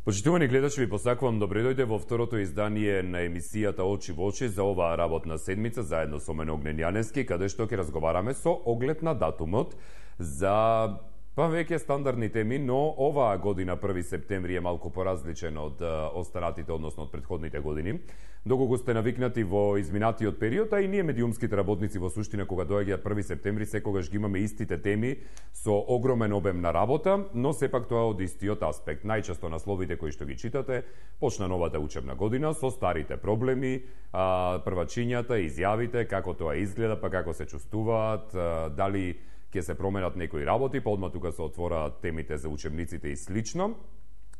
Почитувани гледачи, ви посакувам добре дојде во второто издание на емисијата Очи во очи за оваа работна седмица заедно со мене Огнен Јаневски, каде што ќе разговараме со оглед на датумот за веќе стандардни теми, но оваа година 1 септември е малку поразличен од останатите, односно од претходните години. Доколку сте навикнати во изминатиот период, а и ние медиумските работници во суштина кога доаѓа 1 септември секогаш ги имаме истите теми со огромен обем на работа, но сепак тоа од истиот аспект. Најчесто насловите кои што ги читате, почна новата учебна година со старите проблеми, првачињата, изјавите, како тоа изгледа, па како се чувствуваат, дали ќе се променат некои работи, па одма тука се отвораат темите за учебниците и слично.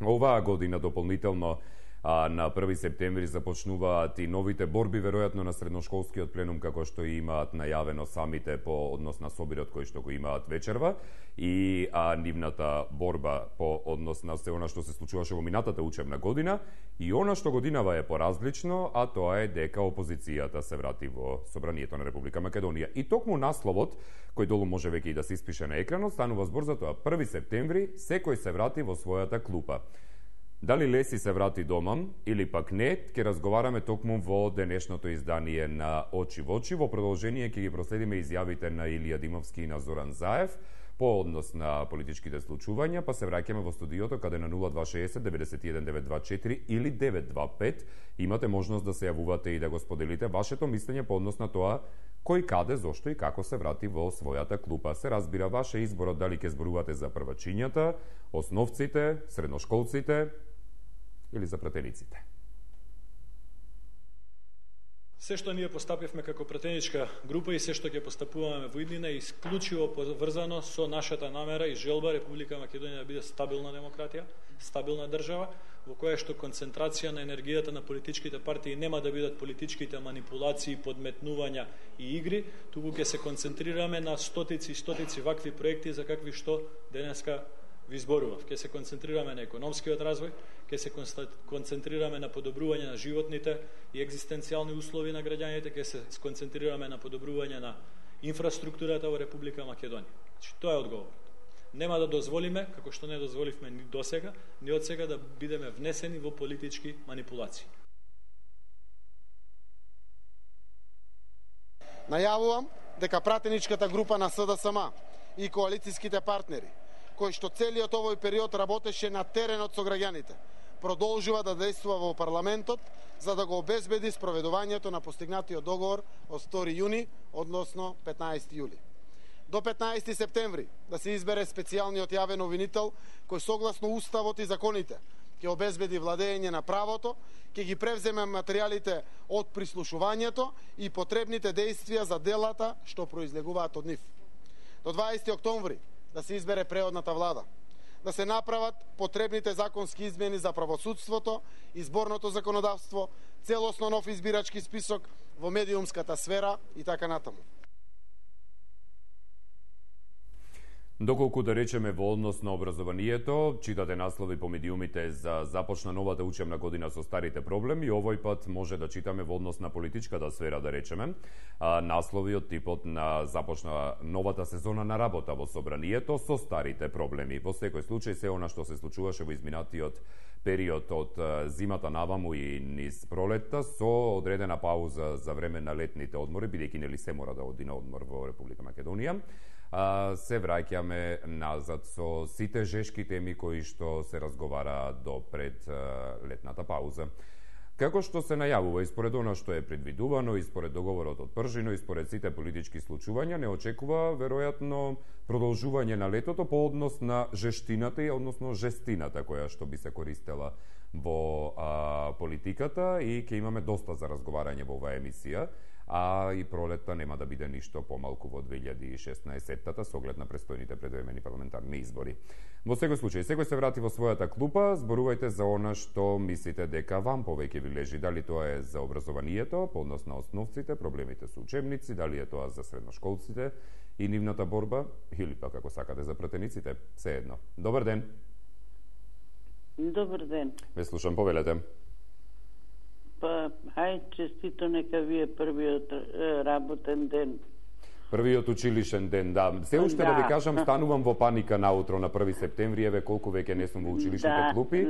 Оваа година дополнително на 1 септември започнуваат и новите борби, веројатно на средношколскиот пленум, како што имаат најавено самите по однос на собирот кој што го имаат вечерва, и нивната борба по однос на се она што се случуваше во минатата учебна година, и она што годинава е поразлично, а тоа е дека опозицијата се врати во Собранието на Република Македонија. И токму насловот, кој долу може веќе и да се испише на екранот, станува збор за тоа: 1 септември, секој се врати во својата клупа. Дали Леси се врати дома или пак не, ќе разговараме токму во денешното издание на Очи во очи. Во продолжение ќе ги проследиме изјавите на Илија Димовски и на Зоран Заев по однос на политичките случувања, па се враќаме во студиото каде на 0260 91 924 или 925 имате можност да се јавувате и да го споделите вашето мислење по однос на тоа кој, каде, зошто и како се врати во својата клупа. Се разбира ваше изборот дали ќе зборувате за првачињата, основците, средношколците или за пратениците. Се што ние постапивме како пратеничка група и се што ќе постапуваме во иднина е исклучиво поврзано со нашата намера и желба Република Македонија да биде стабилна демократија, стабилна држава, во која што концентрација на енергијата на политичките партии нема да бидат политичките манипулации, подметнувања и игри, туку ќе се концентрираме на стотици и стотици вакви проекти за какви што денеска ви зборував. Ќе се концентрираме на економскиот развој, ќе се концентрираме на подобрување на животните и екзистенцијални услови на граѓаните, ќе се концентрираме на подобрување на инфраструктурата во Република Македонија. Значи, тоа е одговорот. Нема да дозволиме, како што не дозволивме ни досега, ни од сега да бидеме внесени во политички манипулации. Најавувам дека пратеничката група на СДСМ и коалицијските партнери, кој што целиот овој период работеше на теренот со граѓаните, продолжува да действува во парламентот за да го обезбеди спроведувањето на постигнатиот договор од 2 јуни, односно 15 јули. До 15 септември да се избере специјалниот јавен обвинител кој согласно уставот и законите ќе обезбеди владење на правото, ќе ги превземе материјалите од прислушувањето и потребните действија за делата што произлегуваат од нив. До 20 октомври да се избере преодната влада, да се направат потребните законски измени за правосудството, изборното законодавство, целосно нов избирачки список во медиумската сфера и така натаму. Доколку да речеме во однос на образованието, читате наслови по медиумите за започна новата учебна година со старите проблеми, овој пат може да читаме во однос на политичката сфера, да речеме, наслови од типот на започна новата сезона на работа во собранието со старите проблеми. Во секој случај се она што се случуваше во изминатиот период од зимата наваму и низ пролетта со одредена пауза за време на летните одмори, бидејќи нели се мора да оди на одмор во Република Македонија. Се враќаме назад со сите жешки теми кои што се разговараат до пред летната пауза. Како што се најавува и според она што е предвидувано и според договорот од Пржино и според сите политички случувања, не очекува веројатно продолжување на летото по однос на жештината и односно жестината која што би се користела во политиката, и ќе имаме доста за разговарање во оваа емисија. А и пролетта нема да биде ништо помалку во 2016-тата со оглед на престојните предвремени парламентарни избори. Во секој случај, секој се врати во својата клупа, зборувајте за она што мислите дека вам повеќе ви лежи, дали тоа е за образованието, по однос на основците, проблемите со учебници, дали е тоа за средношколците и нивната борба, или пак ако сакате за пратениците, се едно. Добар ден. Добар ден. Ве слушам, повелете. Па, хај, честито, нека ви е првиот работен ден Првиот училишен ден, да. Се уште да ви кажам, станувам во паника наутро на 1 септември, еве колку веќе не сум во училишните клупи,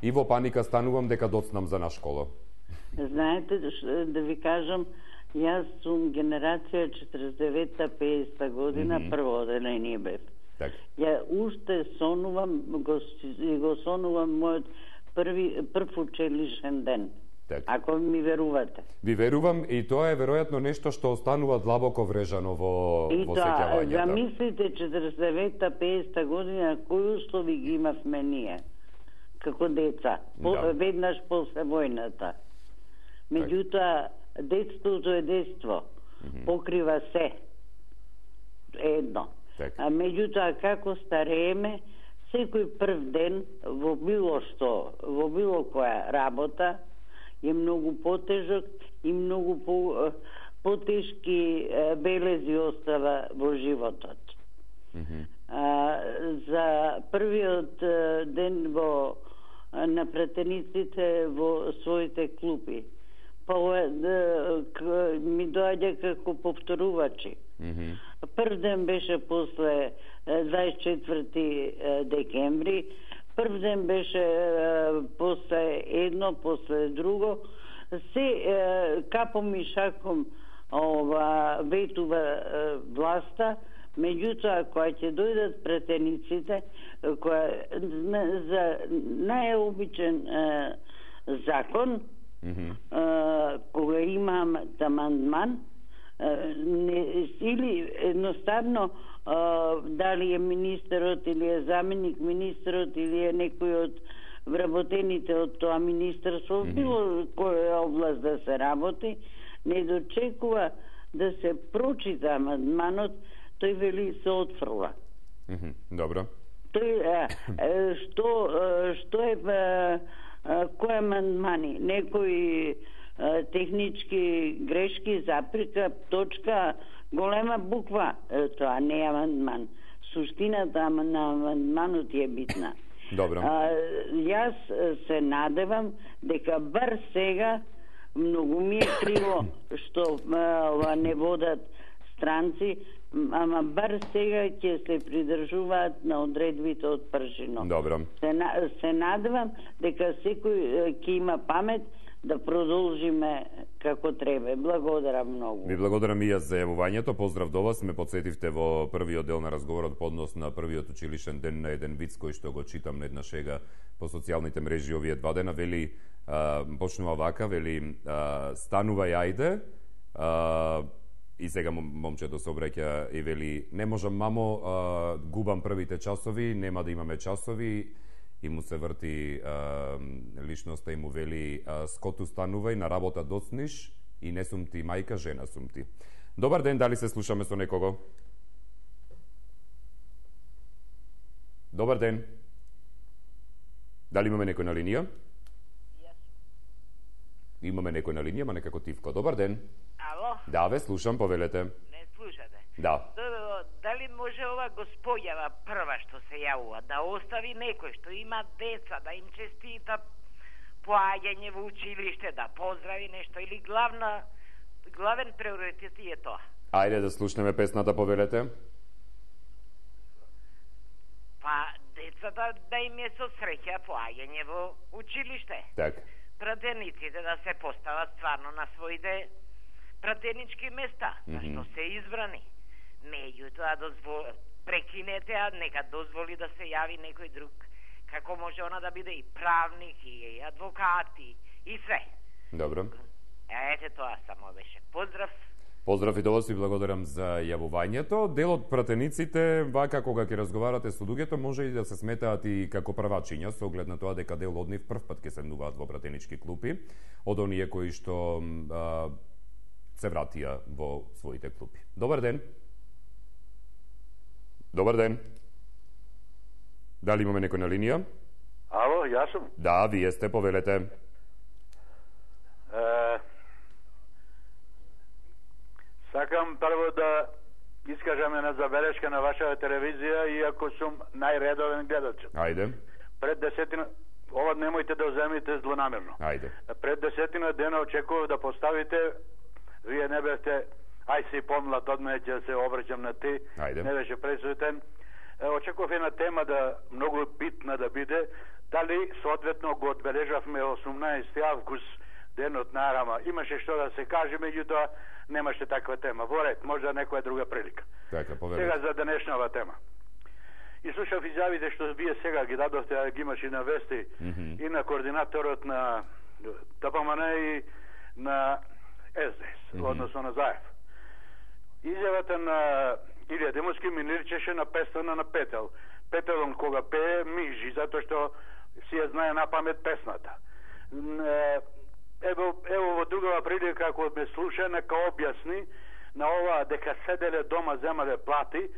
и во паника станувам дека доцнам за на школа. Знаете, да ви кажам, јас сум генерација 49-50 година, прво оделение бев. Ја уште сонувам, го сонувам мојот прв училишен ден. Ако ми верувате. Ви верувам, и тоа е веројатно нешто што останува длабоко врежано во сеќавањата. И замислите 49-50 година кои услови ги имавме ние како деца, веднаш после војната. Меѓутоа, детството е детство, покрива се едно. А меѓутоа, како старееме, секој прв ден во било што, во било која работа, е многу потежок и многу потешки белези остава во животот. За првиот ден на пратениците во своите клупи, ми доаѓа како повторувачи. Прв ден беше после 24 декември, прв ден беше после едно, после друго. Се капом и шаком ветува власта, меѓутоа која ќе дојдат пратениците, за најобичен закон, кога имам амандман, или едноставно дали е министерот или е заменик министерот или е некој од вработените од тоа министерство, било која област да се работи, не дочекува да се прочита амандманот, тој вели се отфрла. Добро. Тој што е кој амандмани, некои технички грешки, заприка, точка, голема буква, тоа не е амандман. Суштината на амандманот е битна. Добро. Јас се надевам дека бар сега, многу ми е криво што не водат странци, ама бар сега ќе се придржуваат на одредбите од пршино. Добро. Се надевам дека секој ќе има памет да продолжиме како треба. Благодарам многу. Ви благодарам и јас за јавувањето. Поздрав до вас. Ме подсетивте во првиот дел на разговорот по однос на првиот училишен ден на еден виц кој што го читам на една шега по социјалните мрежи овие 2 дена. Вели, почнува вака, вели, станувај ајде, и сега момчето се обраќа и вели, не можам мамо, губам првите часови, нема да имаме часови, и му се врти личноста и му вели, скоту станувај, на работа доцниш, и не сум ти мајка, жена сум ти. Добар ден, дали се слушаме со некого? Добар ден. Дали имаме некој на линија? Имаме некој на линија, ма некако тивко. Добар ден. Ало? Да, ве слушам, повелете. Не слушате? Да. Дали може ова господјава прва што се јавува да остави некој што има деца, да им честита поаѓање во училиште, да поздрави нешто, или главен приоритет е тоа? Ајде да слушнеме песната, повелете. Па, децата да им е со среќа поаѓање во училиште. Так. Пратениците да се постават стварно на своите пратенички места, што се избрани. Меѓутоа, прекинете, а нека дозволи да се јави некој друг. Како може она да биде и правник, и адвокат, и све. Добро. Ете тоа само беше. Поздрав. Поздрав и до вас, и благодарам за јавувањето. Дел од пратениците, вака кога ќе разговарате со луѓето, може и да се сметаат и како првачиња, со оглед на тоа дека дел од нив прв пат ќе седнуваат во пратенички клупи, од оние кои што се вратија во своите клупи. Добар ден. Добар ден. Дали имаме некој на линија? Ало, јас сум. Да, вие сте, повелете. Сакам прво да искажам една забелешка на вашата телевизија, иако сум најредовен гледач. Ајде. Пред 10 ова немојте да земите злонамерно. Ајде. Пред 10 дена очекував да поставите, вие не бевте ај се помлад од мене, ќе се обраќам на ти, не беше пресуетен. Очекував една тема да многу битна да биде, дали соодветно го одбележавме 18 август, денот на Арама. Имаше што да се каже, меѓутоа немаше таква тема. Во ред, можда некоја друга прилика. Сега за денешнава тема. И слушав изјавите што вие сега ги дадовте, а ги имаш и на вести, и на координаторот на ДПМН и на СДС, односно на Заев. Изјавата на Илија Демовски ми личеше на песна на Петел. Петелон кога пее мижи, затоа што си ја знае на памет песната. Ево во другава прилика, ако ме слуша, нека објасни на ова дека седеле дома, земале плати.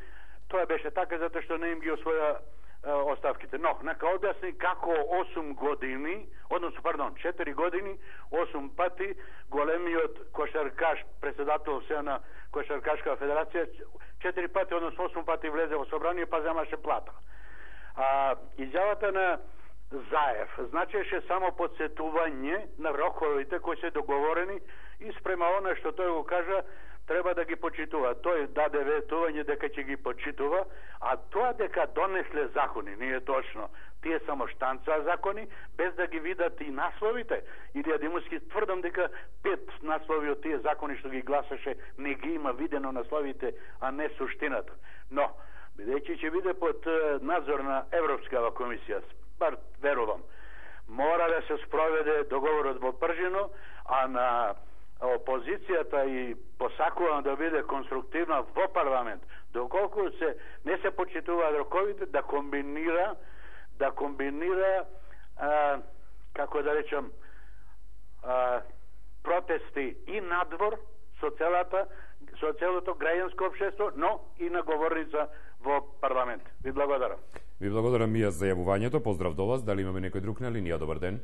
Тоа беше така затоа што не им ги освоја оставките. Но, нека објасни како 8 години, односно, 4 години, 8 пати големиот кошаркаш, председател се на Кошаркашка федерација, 4 пати, односно 8 пати влезе во собрание, па земаше плата. Изјавата на Заев значеше само подсетување на роковите кои се договорени и спрема она што тој го кажа, треба да ги почитува. Тој даде ветување дека ќе ги почитува, а тоа дека донесле закони, не е точно. Тие само штанца закони, без да ги видат и насловите. Илија Демовски тврдам дека 5 наслови од тие закони што ги гласаше, не ги има видено насловите, а не суштината. Но, бидејќи ќе биде под надзор на Европскава комисија, бар верувам, мора да се спроведе договорот во Пржино, а на опозицијата и посакувам да биде конструктивна во парламент, доколку не се почитуваат роковите, да комбинира како да речам протести и надвор со целото граѓанско општество, но и на говорница во парламент. Ви благодарам. Ви благодарам и јас за јавувањето. Поздрав до вас. Дали имаме некој друг на линија? Добар ден.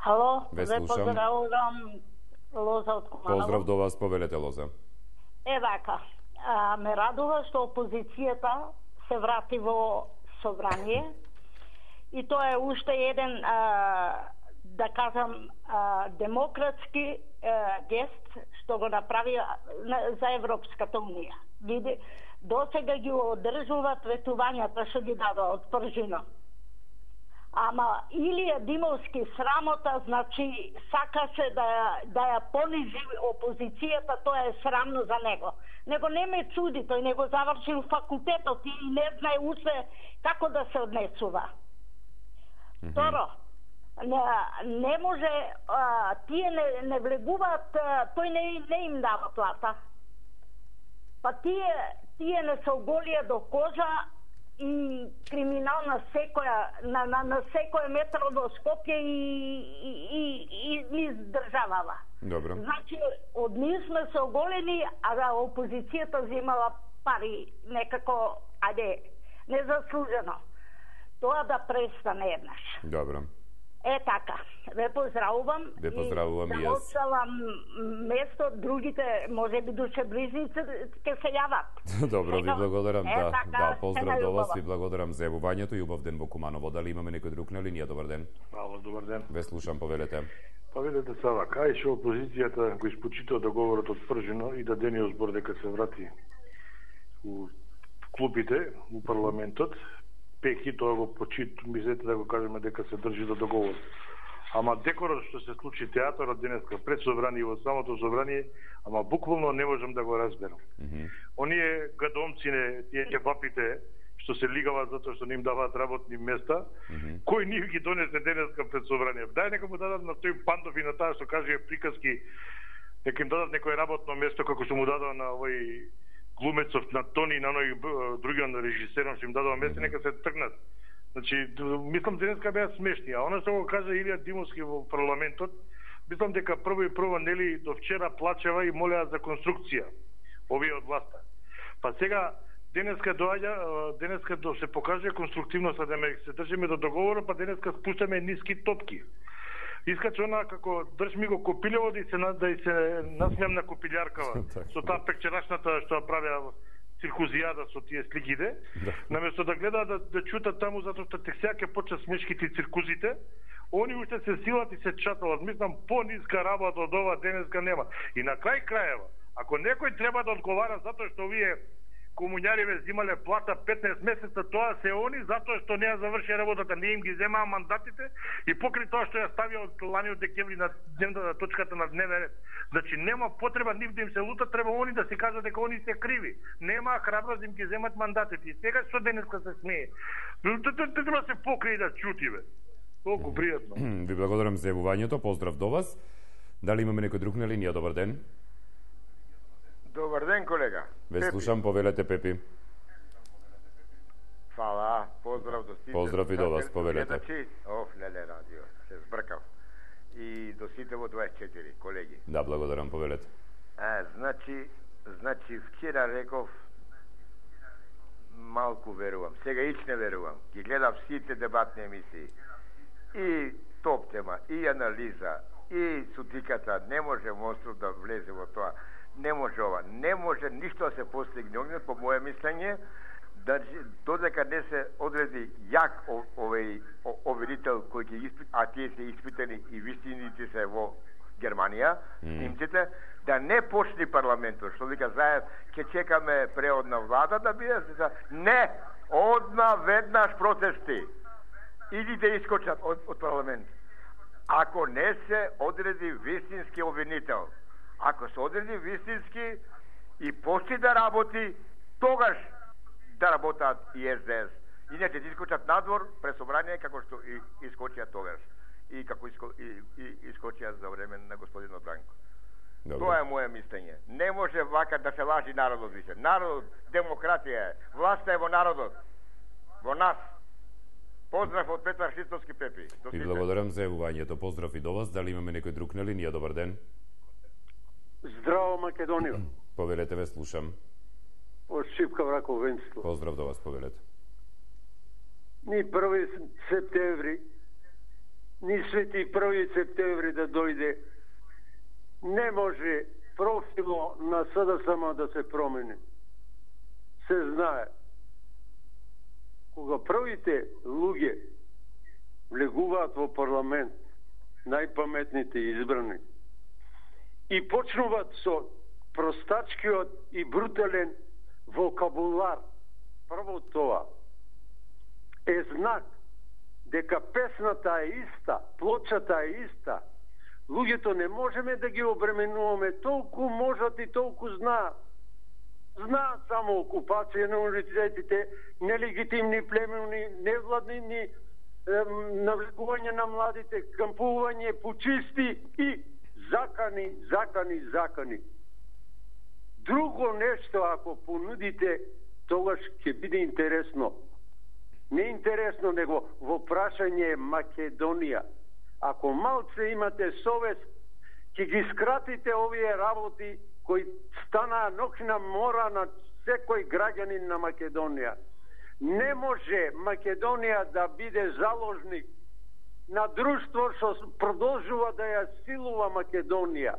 Ало, ве поздравувам Лоза од Куманово. Поздрав до вас, повелете Лоза. Вака, ме радува што опозицијата се врати во собрание и тоа е уште еден, да кажам, демократски гест што го направи за Европската унија. Види, досега ги одржуваат ветувањата што ги дадоа од Пржино. Ама Илија Димовски срамота, значи сакаше да ја понизи опозицијата, тоа е срамно за него. Него не ме чуди, тој не го завршил факултетот и не знае уште како да се однесува. Второ, не може, тие не влегуваат, тој не им дава плата. Па тие не се оголија до кожа и криминал на секој метро до Скопје и издржавала. Добро. Значи, од ние сме се оголени, а да опозицијата взимала пари некако, незаслужено. Тоа да престане еднаш. Добро. Така, ве поздравувам. Ве поздравувам и јас. Да оставам место, другите, може би душеближници, ќе се јават. Добро, ви благодарам. Да, поздрав до вас, ви благодарам за јавувањето и убав ден во Куманово. Дали имаме некој друг на линија? Добар ден. Ало, добар ден. Ве слушам, повелете. Па видете сава, кај што опозицијата го испочита договорот од Пржино и дадениот збор дека се врати у клупите, у парламентот, пеки тоа го почит, мислете да го кажеме дека се држи до договор. Ама декорот што се случи театарот денеска пред собрание во самото собрание, ама буквално не можам да го разберам. Оние гадомци, тие кебапите што се лигаваат затоа што не им даваат работни места, кој ни ги донесе денеска пред собрание? Дај нека му дадат на тој Пандов и на таа што каже приказки, нека им дадат некој работно место како што му дадоа на овој глумецов на Тони и на оној другиот режисером што им дадоа место, нека се тргнат. Значи, мислам денеска беа смешни, а она што го кажа Илија Димовски во парламентот, мислам дека прво нели до вчера плачева и молеа за конструкција овие од власта. Па сега денеска да се покаже конструктивноста, да се држиме до договорот, па денеска спуштаме ниски топки. Искаче она како држ ми го копилево да се насмеам на копилјаркава со таа пекчерашната што правеа циркузијада со тие сликите, наместо да гледаат да чутат таму затоа што тек сега ќе почнат смешките и циркузите, они уште се силат и се чаталат. Мислам, пониска работа од ова денеска нема. И на крај крајева, Ако некој треба да одговара затоа што овие комуњариве земале плата 15 месеца, тоа се они затоа што не ја заврши работата, не им ги земаа мандатите и покри тоа што ја ставија од лани од декември на дневната точката на дневен ред. Значи нема потреба нив да им се лута, треба они да се кажат дека они се криви. Нема храброст да им ги земат мандатите. И сега што денеска се смее. Треба се покри да чутиве. Толку пријатно. Ви благодарам за јавувањето, поздрав до вас. Дали имаме некој друг на линија? Добар ден. Добар ден, колега. Ве слушам, повелете, Пепи. Фала, поздрав до сите. Поздрав и до вас, повелете. Леле, радио, се збркав. И до сите во 24, колеги. Да, благодарам, повелете. Значи, вчера реков, малку верувам, сега ич не верувам. Ги гледав сите дебатни емисии. И топ тема, и анализа, и сутиката, не може Мостров да влезе во тоа. Не може ова, не може ништо да се постигне огнет, по моје мислење, додека не се одреди јак овој оверител кој ќе испит, а тие се испитани и вистините се во Германија, немците, да не почни парламентот, што вика заед, ќе чекаме преодна влада да биде, не, одма веднаш протести, или да искочат од парламент. Ако не се одреди вистински обвинител, ако се одреди вистински и почне да работи, тогаш да работат и СДС. Иначе да искочат надвор пред собрание, како што и искочија тогаш. И како искочија за време на господин Бранко. Добре. Тоа е моје мислење. Не може вака да се лажи народот више. Народот, демократија е. Власта е во народот. Во нас. Поздрав од Петар Шистовски, Пепи. И благодарам за јавувањето. Поздрав и до вас. Дали имаме некој друг на линија? Добар ден. Здраво, Македонија. Повелете, ве слушам. Од Шипка Враков Венцислав. Поздрав до вас, повелете. Ни 1 септември, ни свети 1 септември да дојде, не може профило на СДСМ да се промени. Се знае. Кога првите луѓе влегуваат во парламент, најпаметните избрани, и почнуваат со простачкиот и брутален вокабулар, прво тоа е знак дека песната е иста, плочата е иста. Луѓето не можеме да ги обременуваме, толку можат и толку знаат. Знаат само окупација на универзитетите, нелегитимни племени, невладнини, навлекување на младите, кампување, почисти и закани. Друго нешто, ако понудите, тогаш ќе биде интересно. Не интересно, него во прашање Македонија. Ако малце имате совест, ќе ги скратите овие работи кои станаа нокна мора на секој граѓанин на Македонија. Не може Македонија да биде заложник на друштво што продолжува да ја силува Македонија.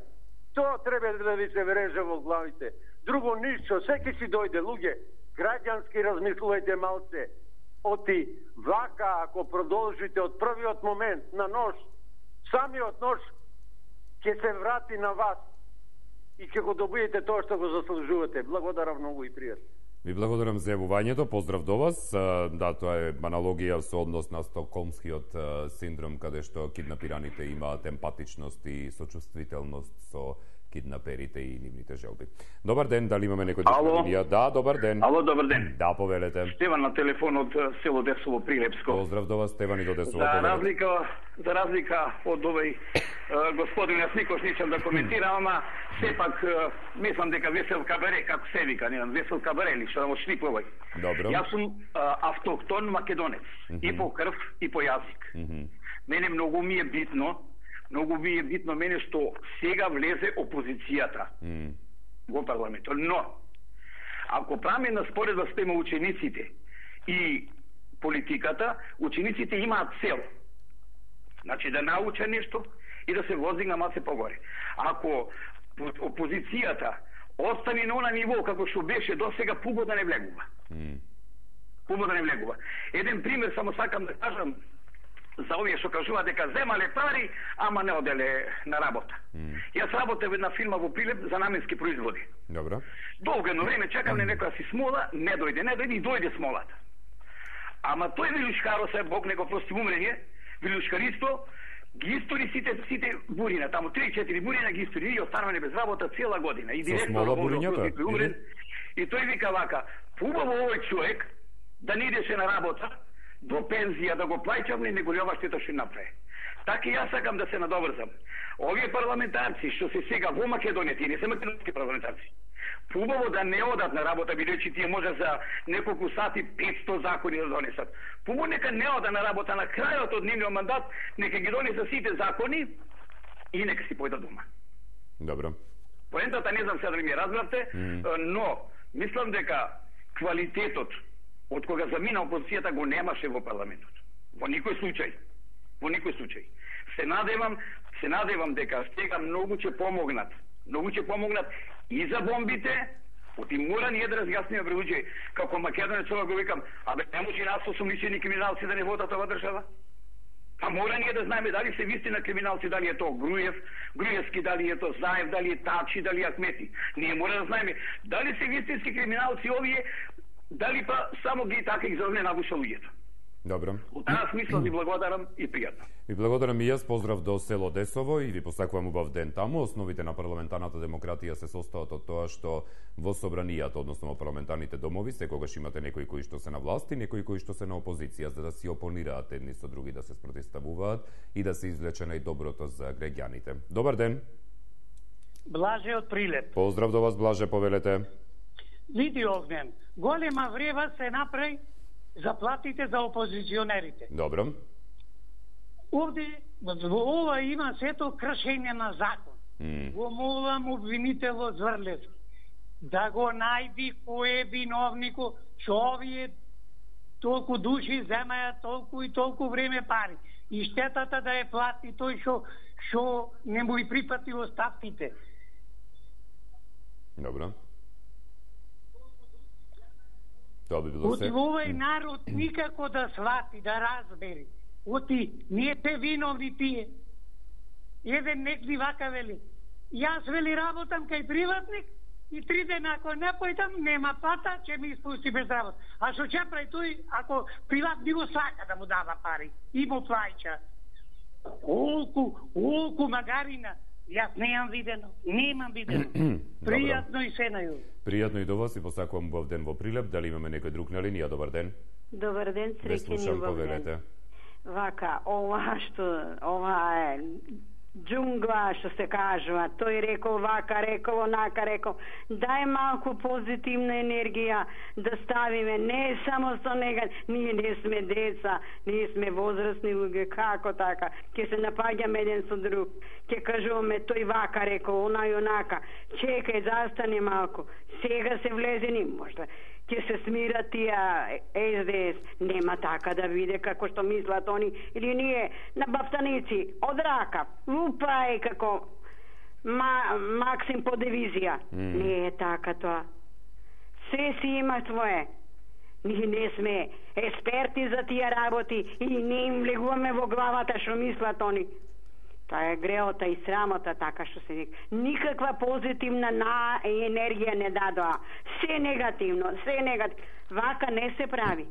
Тоа треба да ви се вреже во главите. Друго ништо, секи си дојде, луѓе, граѓански размислувајте малце. Оти вака, ако продолжите од првиот момент на нож, самиот нож ќе се врати на вас и ќе го добиете тоа што го заслужувате. Благодарам многу и пријатно. Ви благодарам за јавувањето, поздрав до вас. Да, тоа е аналогија со однос на стокхолмскиот синдром, каде што киднапираните имаат емпатичност и сочувствителност со киднаперите и нивните желби. Добар ден, дали имаме некој друг на линија? Да, добар ден. Ало, добар ден. Да, повелете. Стеван на телефон од село Десово Прилепско. Поздрав до вас, Стеван, и до Десово. За разлика од овој господин, јас никош ничам да коментирам, ама сепак мислам дека Весел Кабаре, како се вика, не знам, Весел Кабаре или што да му шлиплувај. Добро. Јас сум автохтон македонец, и по крв, и по јазик. Мене многу ми е битно мене што сега влезе опозицијата во парламентот. Но, ако правиме на споредба спрема учениците и политиката, учениците имаат цел. Значи да науча нешто и да се воздигна масе погоре. Ако опозицијата остане на она ниво како што беше досега, пуго да не влегува. Еден пример само сакам да кажам. за овие што кажуваат дека земале пари, ама не оделе на работа. Јас работев една фирма во Прилеп за наменски производи. Добро. Долго едно време чекавме некоја си смола, не дојде и дојде смолата. Ама тој вилушкаро, Бог не го прости умрење, вилушкаристо, ги истори сите бурина, таму 3-4 бурина ги истори и остануване без работа цела година. И директно умрен. И тој вика вака, убаво овој човек да не идеше на работа до пензија да го плаќам, не го ли ова штета што направи. Така и јас сакам да се надоврзам. Овие парламентарци што се сега во Македонија, тие не се македонски парламентарци, убаво да не одат на работа, бидејќи тие може за неколку сати 500 закони да донесат. Убаво нека не одат на работа на крајот од нивниот мандат, нека ги донесат сите закони и нека си појдат дома. Добро. Поентата не знам сега дали ми разбравте, но мислам дека квалитетот од кога замина опозицијата го немаше во парламентот. Во никој случај. Се надевам дека сега многу ќе помогнат и за бомбите, оти мора ние да разјасниме пред луѓе, како македонец ова го викам, не може нас осомничени криминалци да не водат ова држава? А мора ние да знаеме дали се вистина криминалци, дали е тоа Груевски, дали е тоа Заев, дали е Тачи, дали е Ахмети. Ние мора да знаеме дали се вистински криминалци овие, дали па само ги така ги зовне нагуша луѓето. Добро. Во таа смисла ви благодарам и пријатно. Ви благодарам и јас, поздрав до село Десово и ви посакувам убав ден таму. Основите на парламентарната демократија се состојат од тоа што во собранијата, односно во парламентарните домови, секогаш имате некои кои што се на власт и некои кои што се на опозиција, за да си опонираат едни со други, да се спротивставуваат и да се извлече најдоброто за граѓаните. Добар ден. Блаже од Прилеп. Поздрав до вас, Блаже, повелете. Види Огнен, голема врева се направи заплатите за опозиционерите. Добро. Овде, во ова има сето кршење на закон. Го молам обвинителот Зврлев да го најди кој е виновнико, што овие толку души земаја толку и толку време пари. И штетата да е плати тој што не му и припати оставките. Добро. Тоа би било се. Овој народ никако да свати, да разбери. Оти, не те виновни тие. Еден некли вака вели. Јас вели работам кај приватник и 3 дена ако не појдам, нема плата, ќе ми испусти без работа. А што ќе прави тој, ако приватник го сака да му дава пари и му плаќа? Олку магарина. Јас немам видено. Пријатно и се нају. Пријатно и до вас и посакувам убав ден во Прилеп. Дали имаме некој друг на линија? Добар ден. Добар ден, среќен и убав ден. Вака, ова е джунгла, што се кажува. Тој рекол вака, рекол онака, рекол. Дај малку позитивна енергија да ставиме. Не само со нега. Ние не сме деца, ние сме возрастни луѓе. Како така? Ке се напаѓаме еден со друг. Ке кажуваме тој вака, рекол, она и онака. Чекај, застани малку. Сега се влезени, можда ќе се смира тија СДС. Нема така да биде како што мислат они. Или ние на баптаници од рака. Лупај како Максим по дивизија. Не е така тоа. Се си има свое. Ние не сме експерти за тие работи и не им влегуваме во главата што мислат они. Тоа е греота и срамота, така што се вика. Никаква позитивна енергија не дадоа. Се негативно. Вака не се прави.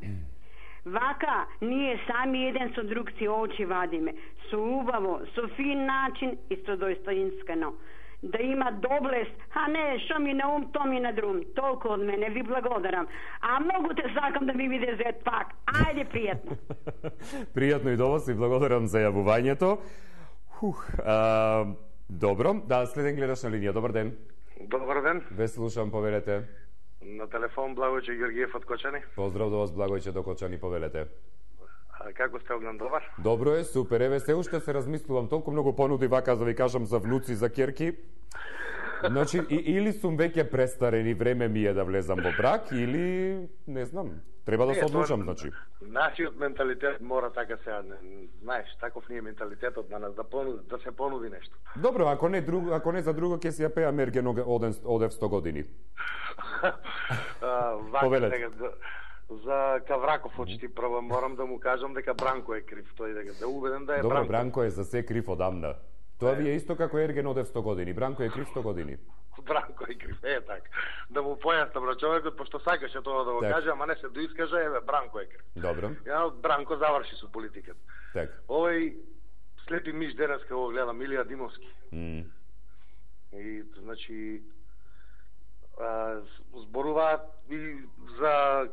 Вака ние сами еден со друг си очи вадиме. Со убаво, со фин начин и со достоинствено. Да има доблест, а не, што ми на ум, то ми на друм. Толку од мене, ви благодарам. А многу те сакам да ми биде зет пак. Ајде, пријатно. Пријатно и до вас и благодарам за јавувањето. Добро, да, следен гледаш на линија. Добар ден. Добар ден. Ве слушам, повелете. На телефон Благојче Георгиев од Кочани. Поздрав до вас, Благојче, до Кочани, повелете. Како сте, Огнен, добар? Добро е, супер. Еве, се уште се размислувам, толку многу понуди вака, да ви кажам, за внуци, за ќерки. Значи, или сум веќе престарен и време ми е да влезам во брак, или, не знам, треба да се одлучам, значи. Нашиот менталитет мора така сега, знаеш, таков ни е менталитетот на нас, да се понуди нешто. Добро, ако не за друго, ќе си ја пеа Мерген одев 100 години. Повелете. за Кавраков очти. Прво морам да му кажам дека Бранко е крив, тој да убеден да е Добро, Бранко. Бранко е за се крив одамна. Тоа ви е исто како Ерген одев 100 години. Бранко е крив 100 години. Бранко е крив, така. Да му појаснам на човекот, пошто сакаше тоа да го каже, ама не се доискаже, Бранко е крив. Добро. Бранко заврши со политиката. Так. Овој слепи миш денеска го гледа Милија Димовски. И, значи, зборуваат и за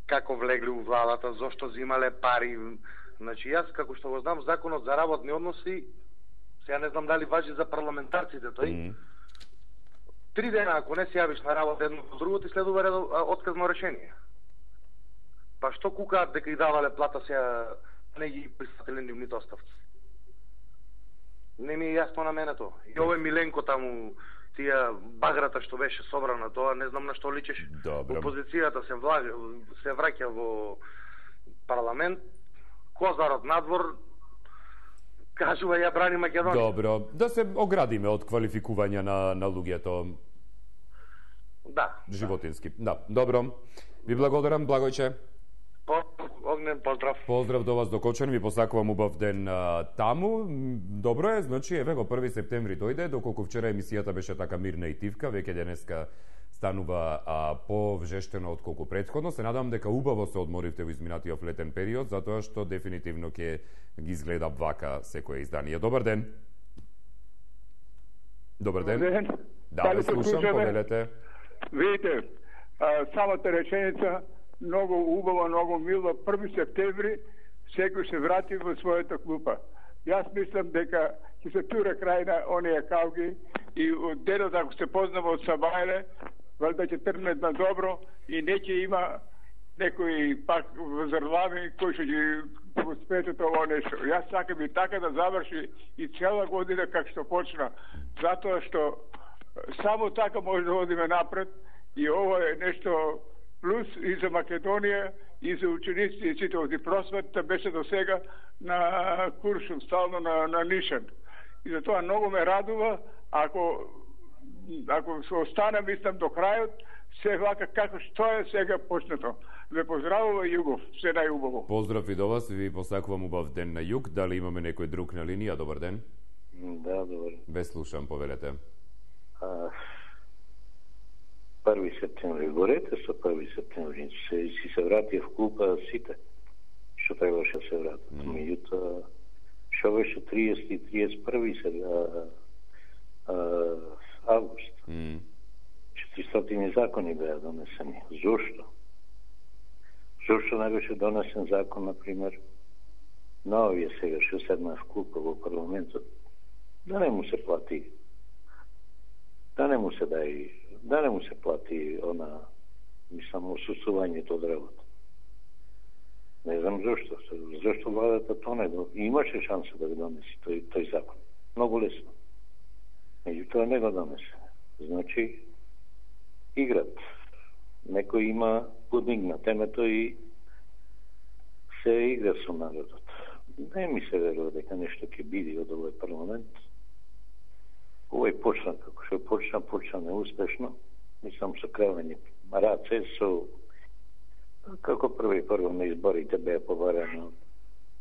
како влегли у владата, зошто зимале пари. Значи, јас, како што го знам, законот за работни односи, сега не знам дали важи за парламентарците тој, 3 дена, ако не се јавиш на работа едно до друго, ти следува отказно решение. Па што кукаат дека и давале плата, сега не ги пристатели нивните оставци? Не ми е јасно на мене тоа. И овој Миленко таму, тие баграта што беше собрана, тоа не знам на што личеше. Опозицијата се враќа во парламент, Козарот надвор, кажува ја брани Македонија. Добро, да се оградиме од квалификување на луѓето. Да. Животински. Да, добро. Ви благодарам, Благојче. Огнен поздрав. Поздрав до вас до Кочан, ви посакувам убав ден таму. Добро е, значи еве го 1 септември дојде, доколку вчера емисијата беше така мирна и тивка, веќе денеска станува повжештено од колку претходно. Се надам дека убаво се одморивте во изминатиот летен период, затоа што дефинитивно ќе ги изгледа вака секое издание. Добар ден. Добар ден. Да, ве слушам, повелете. Видите, самата реченица многу убава, многу мило. 1 септември секој се врати во својата клупа. Јас мислам дека ќе се тура крај на оние кавги и од денот ако се познава од Сабајле, валјда ќе тргне на добро и не ќе има некои пак возрлави кои ќе ги го спечат ово нешто. Јас сакам и така да заврши и цела година како што почна, затоа што само така може да одиме напред и ово е нешто плюс и за Македонија, и за ученици и сите оди просветата беше до сега на Куршум, стално на Нишан. И затоа многу ме радува, ако се остане, мислам, до крајот, се вака како што е сега почнато. Ве поздравува Југов, се најубаво. Поздрав и до вас, ви посакувам убав ден на Југ. Дали имаме некој друг на линија? Добар ден. Да, добар. Ве слушам, повелете. 1 септември горете со 1 септември си се врати в клупа сите што требаше да се вратат. Меѓутоа што беше 30 и 31 август. 400 закони беа донесени. Зошто? Зошто не беше донесен закон, например, на овие сега што седна в клупа во парламентот, да не му се плати, да не му се дај, да не му се плати мислам, осуствувањето од работа. Не знам зашто. Зашто владата тоне имаше шанса да го донесе тој закон. Многу лесно. Меѓутоа не го донесе. Значи, играт. Некој има подигна темето и се игра со народот. Не ми се верува дека нешто ќе биде од овој парламент. Овој почна како што почна неуспешно. Мислам со кревање раце, со како прво на изборите беа побарано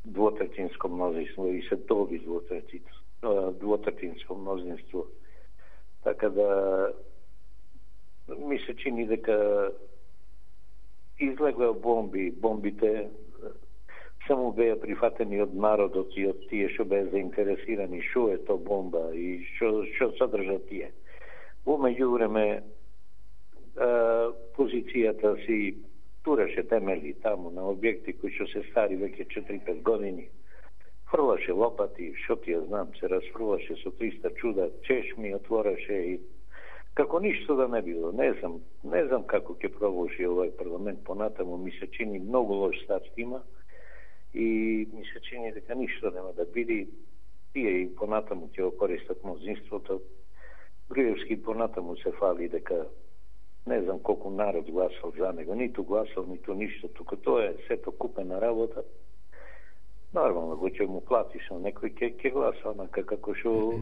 двотретинско мнозинство и се доби двотретинско мнозинство. Така да ми се чини дека излегла бомбите само беа прифатени од народот и од тие што беа заинтересирани што е то бомба и што содржа тие. Во меѓувреме позицијата си тураше темели таму на објекти кои што се стари веќе 4-5 години. Фрлаше лопати, што ти ја знам, се расфрлаше со 300 чуда, чешми отвораше и како ништо да не било. Не знам како ќе продолжи овој парламент понатаму, ми се чини многу лош старт има и ми се чини дека ништо нема да биде. Тие и понатаму ќе го користат мнозинството. Груевски понатаму се фали дека не знам колку народ гласал за него, ниту гласал, ниту ништо, тука тоа е сето купена работа. Нормално го ќе му платиш, но некој ќе гласа онака како што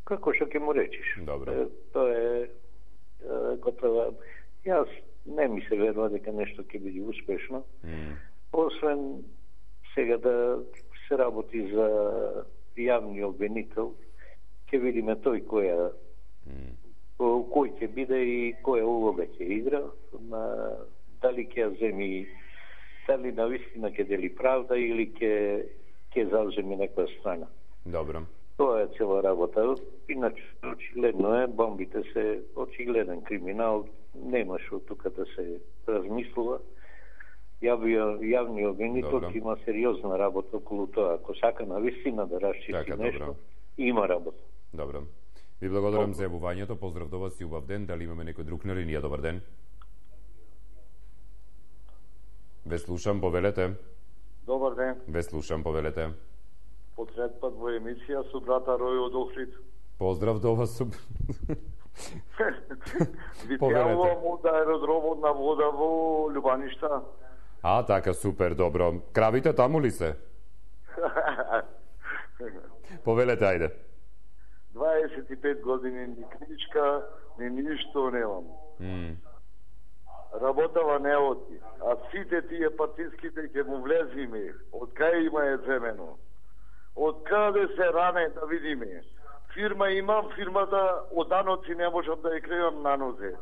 ќе му речиш. Добро. Тоа е готова. Јас не ми се верува дека нешто ќе биде успешно. Освен сега да се работи за јавни обвинител, ќе видиме тој кој ќе биде и која улога ќе игра, дали ќе земи, дали навистина ќе дели правда или ќе зауземе некоја страна. Добро. Тоа е цела работа. Иначе, очигледно е, бомбите се очигледен криминал, нема што тука да се размислува. Јавниот обвинител има сериозна работа околу тоа. Ако сака навистина да расчисти нешто, има работа. Добро. Ви благодарам за јавувањето. Поздрав до вас и убав ден. Дали имаме некој друг на линија? Добар ден. Ве слушам, повелете. Добар ден. Ве слушам, повелете. Потрет пат во емисија со брата Рој од Охрид. Поздрав до вас. Ви пјавувам од аеродромот на вода во Љубаништа. Така, супер, добро. Кравите таму ли се? Повелете, ајде. 25 години ни книжка, ни ништо немам. Работава не оди. А сите тие партиските ќе му влезиме. Од кај има е земено? Од каде се ране да видиме? Фирма имам, фирмата од даноци не можам да ја крејам на нозе.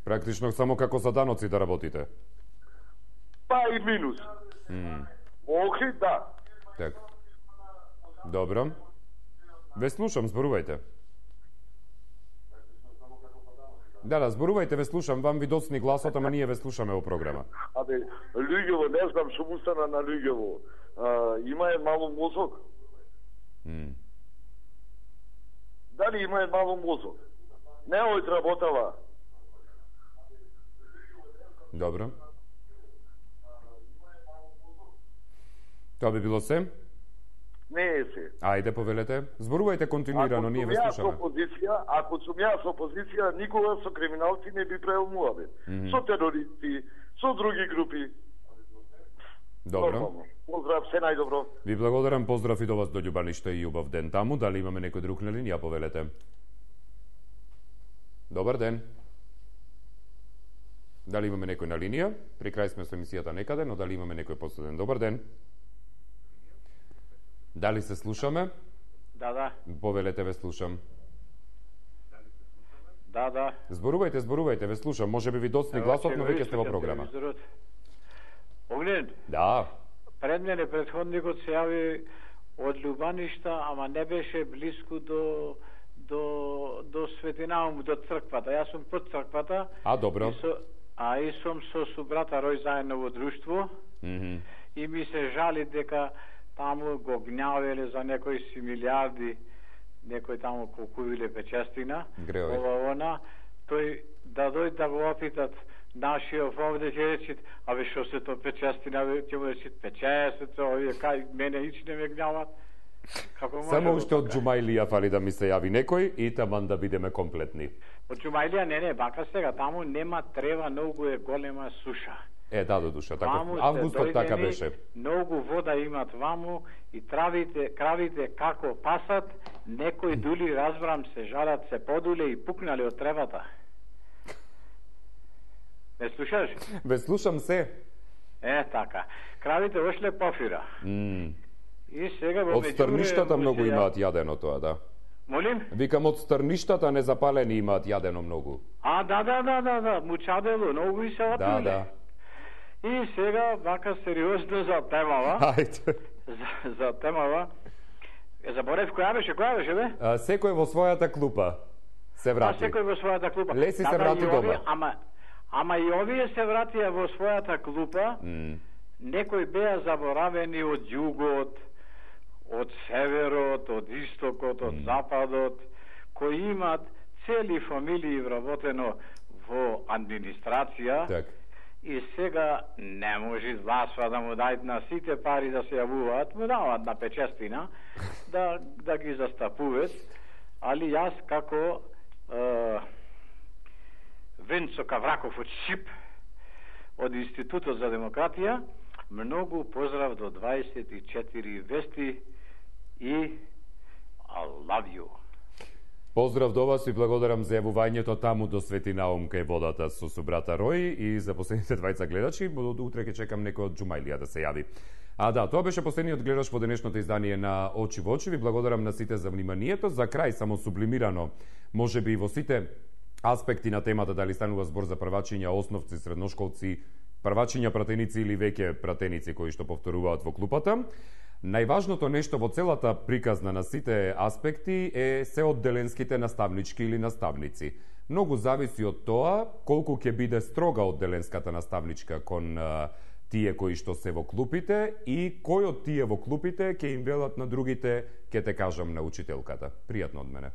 Практично само како за даноци да работите? Па и минус. Во Охрид, да. Так. Добро. Ве слушам, зборувајте. Да, зборувајте, ве слушам, вам ви доцни гласот, ама ние ве слушаме во програма. Луѓево, не знам што му стана на луѓево. Има е мало мозок. Дали има е мало мозок? Не отработава. Добро. Тоа би било се? Не е се. Ајде, повелете. Зборувајте континуирано, ние ве слушаме. Ако сум јас опозиција, никога со криминалци не би правил муабет. Со терористи, со други групи. Добро. Поздрав, се најдобро. Ви благодарам, поздрав и до вас до Љубаништа и убав ден таму. Дали имаме некој друг на линија, повелете? Добар ден. Дали имаме некој на линија? При крај сме со емисијата некаде, но дали имаме некој последен? Добар ден. Дали се слушаме? Да. Повелете, ве слушам. Да. Зборувајте, ве слушам. Може би ви доцни гласот, но веќе сте во програма. Огнен? Да. Пред мене претходникот се јави од Љубаништа, ама не беше близко до Светинаум, до црквата. Јас сум под црквата. Добро. И сум со брата Рој заедно во друштво. И ми се жали дека таму го гнјавеле за некои си милиарди, некој таму кукувиле печестина. Ова, тој да дојде да го опитат нашиот овде ќе речит, што се то печестина, ќе му речит печестито, овие кај мене ич не ме гнјават. Само уште од Џумајлија фали да ми се јави некој и таман да бидеме комплетни. Од Џумајлија не, бака сега, таму нема трева, многу е голема суша. Да, до душа, така. Августот така беше. Многу вода имат ваму и кравите како пасат, некои дули, разбрам, се жарат, се подуле и пукнале од тревата. Ме слушаш? Ве слушам се. Така. Кравите ошле пофира. И сега во од стрништата многу имаат јадено тоа, да. Молим? Викам, од стрништата незапалени имаат јадено многу. Да. Мучадело, многу и се отмиле. Да. И сега, вака сериозно за темава. Ајде. За темава. Заборев, која беше, бе? Секој во својата клупа се врати. Секој во својата клупа. Леси се врати дома. Ама и овие се вратија во својата клупа. Некои беа заборавени од југот, од северот, од истокот, од западот, кои имат цели фамилии вработено во администрација. Так. И сега не може властва да му дајат на сите пари да се јавуваат, му дават на печестина, да ги застапуваат, али јас како Венцо Кавраков од ШИП, од Институтот за демократија, многу поздрав до 24 вести и I love you. Поздрав до вас и благодарам за јавувањето таму до Свети Наум кај водата со собрата Рој и за последните двајца гледачи. Утре ќе чекам некој од Џумајлија да се јави. Да, тоа беше последниот гледач во денешното издание на Очи во очи. Ви благодарам на сите за вниманието. За крај, само сублимирано, може би во сите аспекти на темата, дали станува збор за првачиња, основци, средношколци, првачиња пратеници или веќе пратеници кои што повторуваат во клупата. Најважното нешто во целата приказна на сите аспекти е се одделенските наставнички или наставници. Многу зависи од тоа колку ќе биде строга одделенската наставничка кон тие кои што се во клупите и кој од тие во клупите ќе им велат на другите, ќе те кажам на учителката. Пријатно од мене.